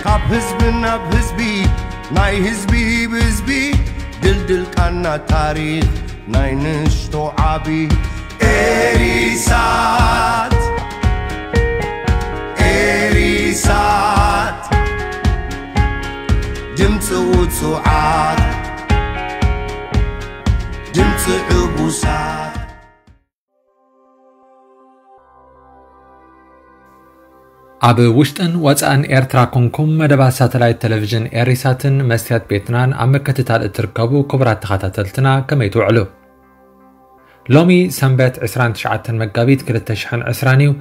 ካብ ህዝቢ ናብ ህዝቢ፣ ናይ ህዝቢ ብህዝቢ፣ ድልድል ቃና ታሪኽ ናይ ንእሽቶ ዓቢ። ኤሪሳት፣ ኤሪሳት፣ ድምፂ ውፁዓት፣ ድምፂ ዕቡሳት። ኣብ ውሽጥን ወጻእን ኤርትራ ኮንኩም መደባት ሳተላይት ቴሌቪዥን ኤሪሳትን መስትያት ቤትናን ኣብ ምክትታል እትርከቡ ክቡራት ተኸታተልትና፣ ከመይ ትውዕሉ? ሎሚ ሰንበት ዕስራን ትሽዓተን መጋቢት ክልተ ሽሕን ዕስራን እዩ።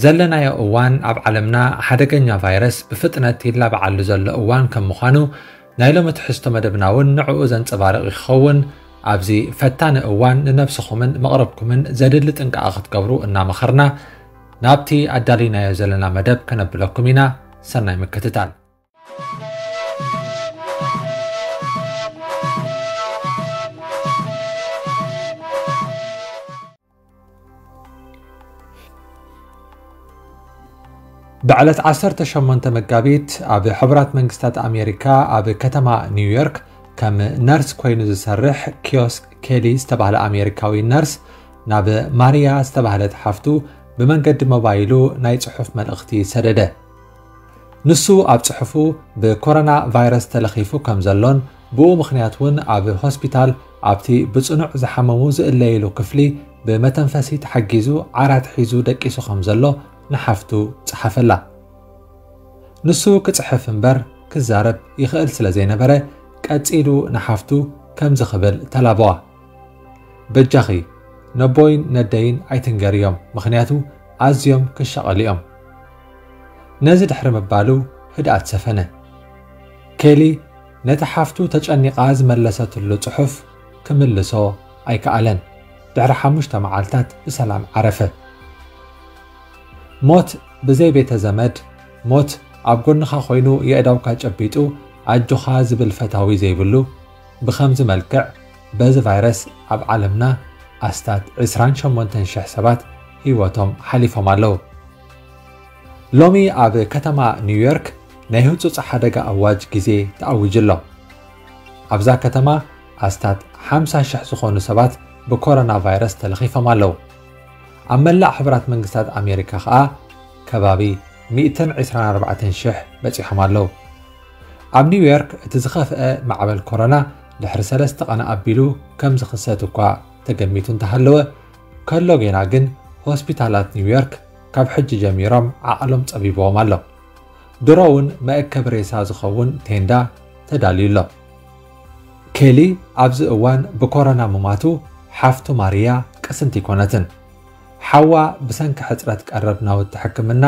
ዘለናዮ እዋን ኣብ ዓለምና ሓደገኛ ቫይረስ ብፍጥነት ይላባዓሉ ዘሎ እዋን ከም ምዃኑ፣ ናይ ሎሚ ትሕዝቶ መደብና እውን ንዕኡ ዘንጸባርቕ ይኸውን። ኣብዚ ፈታኒ እዋን ንነብስኹምን መቕረብኩምን ዘድሊ ጥንቃቐ ክትገብሩ እናመኸርና፣ ናብቲ ኣዳሊናዮ ዘለና መደብ ከነብለኩም ኢና። ሰናይ ምክትታል። ብዕለት ዓሰርተ ሸሞንተ መጋቢት ኣብ ሕቡራት መንግስታት ኣሜሪካ ኣብ ከተማ ኒውዮርክ ከም ነርስ ኮይኑ ዝሰርሕ ኪዮስክ ኬሊ ዝተባህለ ኣሜሪካዊ ነርስ ናብ ማርያ ዝተባህለት ሓፍቱ ብመንገዲ ሞባይሉ ናይ ጽሑፍ መልእኽቲ ሰደደ። ንሱ ኣብ ጽሑፉ ብኮሮና ቫይረስ ተለኺፉ ከም ዘሎን ብኡ ምኽንያት እውን ኣብ ሆስፒታል ኣብቲ ብጽኑዕ ዝሓመሙ ዝእለይሉ ክፍሊ ብመተንፈሲ ተሓጊዙ ዓራት ሒዙ ደቂሱ ከም ዘሎ ንሓፍቱ ጸሓፈላ። ንሱ ክጽሕፍ እምበር ክዛረብ ይኽእል ስለ ዘይነበረ ቀጺሉ ንሓፍቱ ከምዚ ክብል ተላበዋ። በጃኺ ነቦይን ነደይን ኣይትንገርዮም፣ ምኽንያቱ ኣዝዮም ክሻቐሉ እዮም። ነዚ ድሕሪ ምባሉ ህድኣት ሰፈነ። ኬሊ ነቲ ሓፍቱ ተጨኒቓ ዝመለሰትሉ ጽሑፍ ክምልሶ ኣይከኣለን። ድሕሪ ሓሙሽተ መዓልታት ብሰላም ዓረፈ። ሞት ብዘይ ቤተ ዘመድ፣ ሞት ኣብ ጎንኻ ኮይኑ የእዳውካ ጨቢጡ ኣጆኻ ዝብል ፈታዊ ዘይብሉ፣ ብኸምዚ መልክዕ በዚ ቫይረስ ኣብ ዓለምና ኣስታት ዕስራን ሸሞንተን ሽሕ ሰባት ህይወቶም ሓሊፎም ኣለዉ። ሎሚ ኣብ ከተማ ኒውዮርክ ናይ ህጹጽ ሓደጋ ኣዋጅ ግዜ ተኣዊጁ ኣሎ። ኣብዛ ከተማ ኣስታት ሓምሳ ሽሕ ዝኾኑ ሰባት ብኮሮና ቫይረስ ተለኺፎም ኣለዉ። ኣብ መላእ ሕቡራት መንግስታት ኣሜሪካ ኸኣ ከባቢ ሚእትን ዕስራን ኣርባዕተን ሽሕ በጺሖም ኣለዉ። ኣብ ኒውዮርክ እቲ ዝኸፍአ ማዕበል ኮሮና ድሕሪ ሰለስተ ቀን ኣቢሉ ከም ዝኽሰት እኳ ተገሚቱ እንተሃለወ፣ ከሎ ጌና ግን ሆስፒታላት ኒውዮርክ ካብ ሕጂ ጀሚሮም ዓቕሎም ጸቢብዎም ኣሎ። ድሮ እውን መእከቢ ሬሳ ዝኸውን ቴንዳ ተዳልዩ ኣሎ። ኬሊ ኣብዚ እዋን ብኮሮና ምማቱ ሓፍቱ ማርያ ቅስንቲ ኣይኮነትን። ሓዋ ብሰንኪ ሕጽረት ቀረብ ናውቲ ሕክምና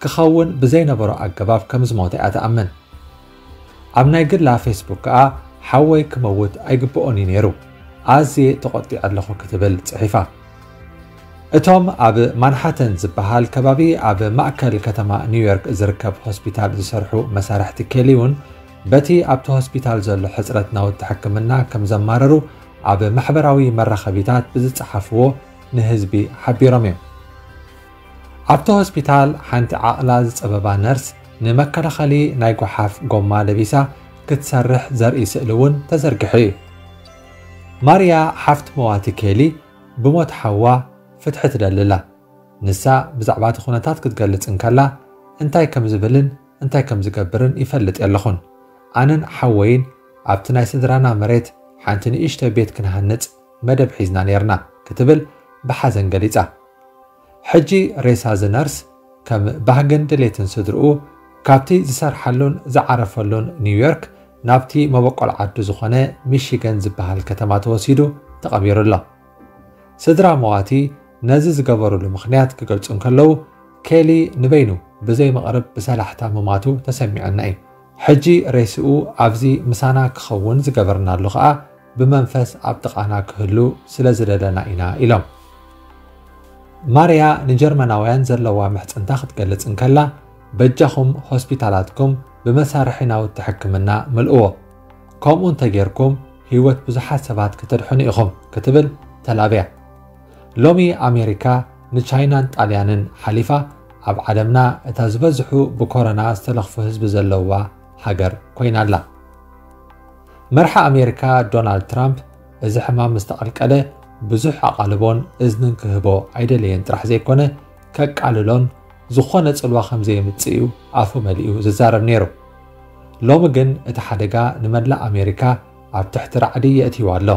ክኸውን ብዘይነበሮ ኣገባብ ከም ዝሞተ እያ ትኣምን። ኣብ ናይ ግላ ፌስቡክ ከኣ ሓወይ ክመውት ኣይግብኦን እዩ ነይሩ፣ ኣዝየ ተቖጢዐ ኣለኹ ክትብል ጽሒፋ። እቶም ኣብ ማንሃተን ዝበሃል ከባቢ ኣብ ማእከል ከተማ ኒውዮርክ ዝርከብ ሆስፒታል ዝሰርሑ መሳርሕቲ ኬሊ እውን በቲ ኣብቲ ሆስፒታል ዘሎ ሕጽረት ናውቲ ሕክምና ከም ዘማረሩ ኣብ ማሕበራዊ መራኸቢታት ብዝጸሓፍዎ ንህዝቢ ሓቢሮም እዮም። ኣብቲ ሆስፒታል ሓንቲ ዓቕላ ዝጸበባ ነርስ ንመከላኸሊ ናይ ጓሓፍ ጎማ ለቢሳ ክትሰርሕ ዘርኢ ስእሊ እውን ተዘርጊሑ እዩ። ማርያ ሓፍቲ መዋቲ ኬሊ ብሞት ሓዋ ፍትሒ ትደሊ ኣላ። ንሳ ብዛዕባ እቲ ኩነታት ክትገልጽ እንከላ፣ እንታይ ከም ዝብልን እንታይ ከም ዝገብርን ይፈልጥ የለኹን። ኣነን ሓወይን ኣብቲ ናይ ስድራና መሬት ሓንቲ ንእሽቶ ቤት ክንሃንጽ መደብ ሒዝና ኔርና ክትብል ብሓዘን ገሊጻ። ሕጂ ሬሳ እዚ ነርስ ከም ባህግን ድሌትን ስድርኡ ካብቲ ዝሰርሓሉን ዝዓረፈሉን ኒውዮርክ ናብቲ መበቆል ዓዱ ዝኾነ ሚሺገን ዝበሃል ከተማ ተወሲዱ ተቐቢሩ ኣሎ። ስድራ መዋቲ ነዚ ዝገበሩሉ ምኽንያት ክገልጹ እንከለዉ፣ ኬሊ ንበይኑ ብዘይ መቕርብ ብሰላሕታ ምማቱ ተሰሚዑና እዩ። ሕጂ ሬስኡ ኣብዚ ምሳና ክኸውን ዝገበርናሉ ኸኣ ብመንፈስ ኣብ ጥቓና ክህሉ ስለ ዝደለና ኢና ኢሎም። ማርያ ንጀርመናውያን ዘለዋ ምሕጽንታ ክትገልጽ እንከላ፣ በጃኹም ሆስፒታላትኩም ብመሳርሒ ናውቲ ሕክምና ምልእዎ፣ ከምኡ እንተጌርኩም ህይወት ብዙሓት ሰባት ከተድሕኑ ኢኹም ክትብል ተላብያ። ሎሚ ኣሜሪካ ንቻይናን ጣልያንን ሓሊፋ ኣብ ዓለምና እታ ዝበዝሑ ብኮሮና ዝተለኽፉ ህዝቢ ዘለዋ ሃገር ኮይና ኣላ። መርሓ ኣሜሪካ ዶናልድ ትራምፕ እዚ ሕማም ምስ ተቐልቀለ ብዙሕ ኣቓልቦን እዝንን ክህቦ ኣይደለየን ጥራሕ ዘይኮነ፣ ከቃልሎን ዝኾነ ጽልዋ ከም ዘየምጽእ እዩ ኣፉ መሊኡ ዝዛረብ ነይሩ። ሎሚ ግን እቲ ሓደጋ ንመላእ ኣሜሪካ ኣብ ትሕቲ ራዕዲ የእትይዋ ኣሎ።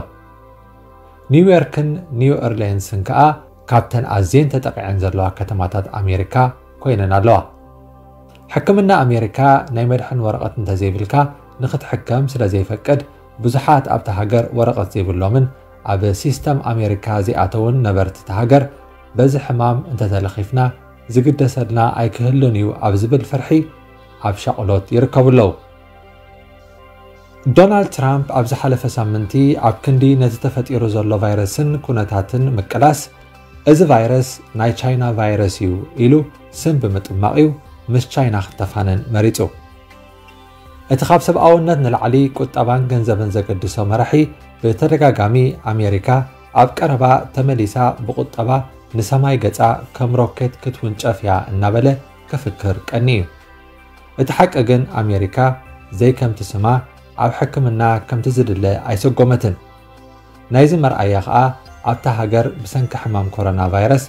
ኒውዮርክን ኒው ኦርሊንስን ከኣ ካብተን ኣዝየን ተጠቒዐን ዘለዋ ከተማታት ኣሜሪካ ኮይነን ኣለዋ። ሕክምና ኣሜሪካ ናይ መድሕን ወረቐት እንተዘይብልካ ንኽትሕከም ስለ ዘይፈቅድ፣ ብዙሓት ኣብታ ሃገር ወረቐት ዘይብሎምን ኣብ ሲስተም ኣሜሪካ ዘይኣተውን ነበርቲ እታ ሃገር፣ በዚ ሕማም እንተተለኺፍና ዝግደሰልና ኣይክህሉን እዩ ኣብ ዝብል ፍርሒ ኣብ ሻቕሎት ይርከቡ ኣለዉ። ዶናልድ ትራምፕ ኣብ ዝሓለፈ ሳምንቲ ኣብ ክንዲ ነቲ ተፈጢሩ ዘሎ ቫይረስን ኩነታትን ምቅላስ፣ እዚ ቫይረስ ናይ ቻይና ቫይረስ እዩ ኢሉ ስም ብምጥማቕ እዩ ምስ ቻይና ክተፋነን መሪጹ። እቲ ካብ ሰብኣውነት ንላዕሊ ቁጠባን ገንዘብን ዘገድሶ መራሒ ብተደጋጋሚ ኣሜሪካ ኣብ ቀረባ ተመሊሳ ብቁጠባ ንሰማይ ገጻ ከም ሮኬት ክትውንጨፍ እያ እናበለ ክፍክር ቀኒ እዩ። እቲ ሓቂ ግን ኣሜሪካ ዘይከምቲ ስማ ኣብ ሕክምና ከምቲ ዝድለ ኣይሰጎመትን። ናይዚ መርኣያ ከኣ ኣብታ ሃገር ብሰንኪ ሕማም ኮሮና ቫይረስ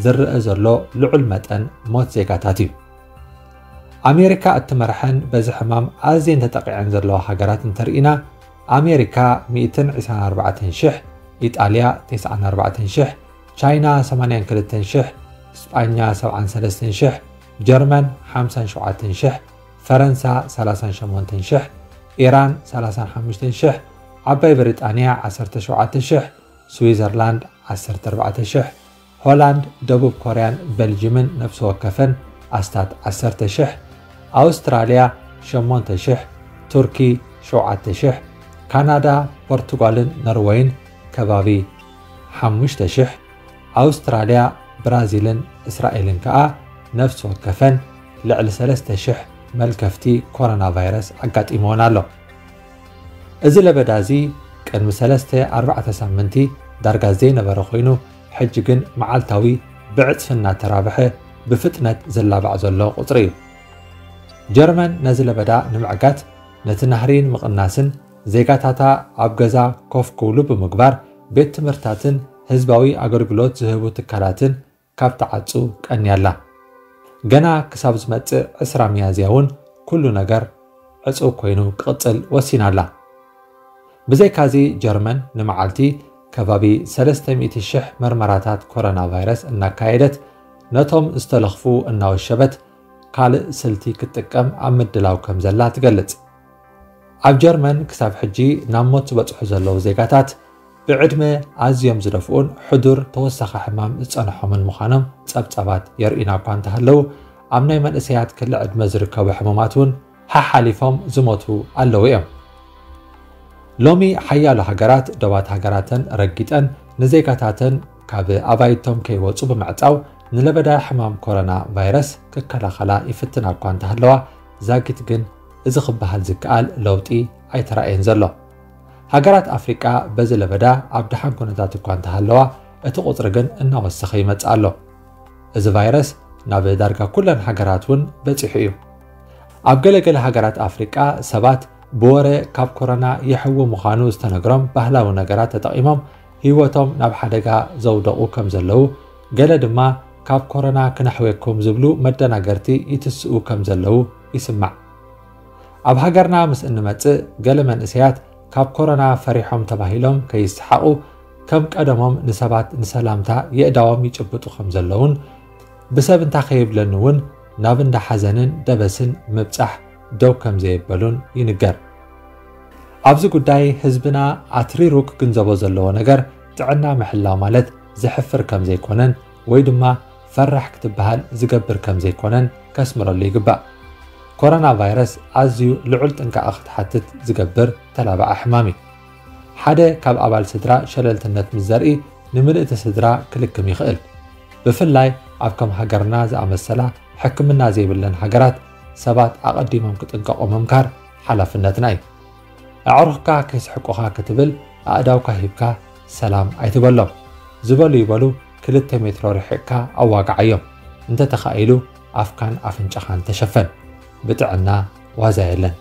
ዝረአ ዘሎ ልዑል መጠን ሞት ዜጋታት እዩ። ኣሜሪካ እትመርሐን በዚ ሕማም ኣዝየን ተጠቒዐን ዘለዋ ሃገራት እንተርኢና፣ ኣሜሪካ ሚእትን ዕስራን ኣርባዕተን ሽሕ፣ ኢጣልያ ተስዓን ኣርባዕተን ሽሕ፣ ቻይና ሰማንያን ክልተን ሽሕ፣ ስጳኛ ሰብዓን ሰለስተን ሽሕ፣ ጀርመን ሓምሳን ሸውዓተን ሽሕ፣ ፈረንሳ ሰላሳን ሸሞንተን ሽሕ፣ ኢራን ሰላሳን ሓሙሽተን ሽሕ፣ ዓባይ ብሪጣንያ ዓሰርተ ሸውዓተ ሽሕ፣ ስዊዘርላንድ ዓሰርተ ኣርባዕተ ሽሕ፣ ሆላንድ፣ ደቡብ ኮርያን በልጅምን ነፍሲ ወከፈን ኣስታት ዓሰርተ ሽሕ፣ ኣውስትራልያ ሸሞንተ ሽሕ፣ ቱርኪ ሸውዓተ ሽሕ፣ ካናዳ፣ ፖርቱጋልን ኖርወይን ከባቢ ሓሙሽተ ሽሕ፣ ኣውስትራልያ፣ ብራዚልን እስራኤልን ከኣ ነፍሲ ወከፈን ልዕሊ ሰለስተ ሽሕ መልከፍቲ ኮሮና ቫይረስ ኣጋጢምወን ኣሎ። እዚ ለበዳ እዚ ቅድሚ ሰለስተ ኣርባዕተ ሳምንቲ ዳርጋ ዘይነበረ ኮይኑ፣ ሕጂ ግን መዓልታዊ ብዕጽፊ እናተራብሐ ብፍጥነት ዝላባዕ ዘሎ ቁጽሪ እዩ። ጀርመን ነዚ ለበዳ ንምዕጋት ነቲ ናህሪ ንምቕናስን ዜጋታታ ኣብ ገዛ ኮፍ ክብሉ ብምግባር ቤት ትምህርታትን ህዝባዊ ኣገልግሎት ዝህቡ ትካላትን ካብ ተዓጹ ቀንያ ኣላ። ገና ክሳብ ዝመጽእ ዕስራ ሚያዝያ እውን ኩሉ ነገር ዕጹው ኮይኑ ክቕጽል ወሲና ኣላ። ብዘይካዚ ጀርመን ንመዓልቲ ከባቢ ሰለስተ ሚእቲ ሽሕ መርመራታት ኮሮና ቫይረስ እናካየደት ነቶም ዝተለኽፉ እናወሸበት ካልእ ስልቲ ክትጥቀም ኣብ ምድላው ከም ዘላ ትገልጽ። ኣብ ጀርመን ክሳብ ሕጂ ናብ ሞት ዝበጽሑ ዘለዉ ዜጋታት ብዕድመ ኣዝዮም ዝደፍኡን ሕዱር ተወሳኺ ሕማም ዝጸንሖምን ምዃኖም ጸብጻባት የርእዩና እኳ እንተሃለዉ፣ ኣብ ናይ መንእሰያት ክሊ ዕድመ ዝርከቡ ሕሙማት እውን ሓሓሊፎም ዝሞቱ ኣለዉ እዮም። ሎሚ ሓያሎ ሃገራት ዶባት ሃገራተን ረጊጠን ንዜጋታተን ካብ ኣባይቶም ከይወጹ ብምዕጻው ንለበዳ ሕማም ኮሮና ቫይረስ ክከላኸላ ይፍትና እኳ እንተሃለዋ፣ ዛጊት ግን እዚ ክበሃል ዝከኣል ለውጢ ኣይተራእየን ዘሎ። ሃገራት ኣፍሪቃ በዚ ለበዳ ኣብ ደሓን ኩነታት እኳ እንተሃለዋ፣ እቲ ቁጽሪ ግን እናወሰኸ ይመጽእ ኣሎ። እዚ ቫይረስ ናብ ዳርጋ ኩለን ሃገራት እውን በጺሑ እዩ። ኣብ ገለገለ ሃገራት ኣፍሪቃ ሰባት ብወረ ካብ ኮሮና ይሕዊ ምዃኑ ዝተነግሮም ባህላዊ ነገራት ተጠቒሞም ህይወቶም ናብ ሓደጋ ዘውደቑ ከም ዘለዉ፣ ገለ ድማ ካብ ኮሮና ክነሕወኩም ዝብሉ መደናገርቲ ይትስኡ ከም ዘለዉ ይስማዕ። ኣብ ሃገርና ምስ እንመጽእ፣ ገለ መንእሰያት ካብ ኮሮና ፈሪሖም ተባሂሎም ከይሰሓቑ፣ ከም ቀደሞም ንሰባት ንሰላምታ የእዳዎም ይጭብጡ ከም ዘለዉን፣ ብሰብ እንታ ከይብለኒ እውን ናብ እንዳ ሓዘንን ደበስን ምብጻሕ ደው ከም ዘየበሉን ይንገር። ኣብዚ ጉዳይ ህዝብና ኣትሪሩ ክግንዘቦ ዘለዎ ነገር ጥዕና ምሕላው ማለት ዘሕፍር ከም ዘይኮነን ወይ ድማ ፈራሕ ክትበሃል ዝገብር ከም ዘይኮነን ከስምረሉ ይግባእ። ኮሮና ቫይረስ ኣዝዩ ልዑል ጥንቃቐ ክትሓትት ዝገብር ተላባዒ ሕማም እዩ። ሓደ ካብ ኣባል ስድራ ሸለልትነት ምስ ዘርኢ ንምልእቲ ስድራ ክልክም ይኽእል። ብፍላይ ኣብ ከም ሃገርና ዝኣመሰላ ሕክምና ዘይብለን ሃገራት ሰባት ኣቐዲሞም ክጥንቀቑ ምምካር ሓላፍነትና እዩ። ኣዕሩኽካ ከይስሕቁኻ ክትብል ኣእዳውካ ሂብካ ሰላም ኣይትበሎም። ዝበሉ ይበሉ ክልተ ሜትሮ ርሒቕካ ኣዋግዓዮም። እንተተኻኢሉ ኣፍካን ኣፍንጫኻን ተሸፈን። ብጥዕና ዋዛ የለን።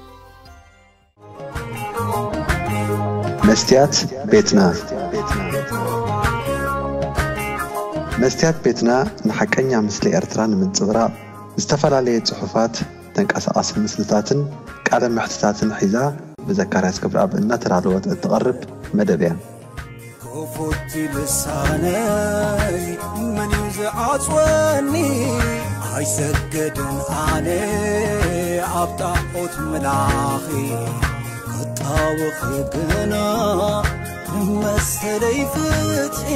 መስትያት ቤትና። መስትያት ቤትና ንሓቀኛ ምስሊ ኤርትራ ንምንጽብራቕ ዝተፈላለየ ጽሑፋት፣ ተንቀሳቓሲ ምስልታትን ቃለ መሕትታትን ሒዛ ብዘካርያስ ክብረኣብ እናተዳለወት እትቐርብ መደብ እያ። ክፉት ልሳነይ መን እዩ ዝዓጽወኒ? ኣይሰግድን ኣነ ኣብ ጣዖት ምላኺ፣ ክጣወኺ ግና መሰለይ ፍትሒ።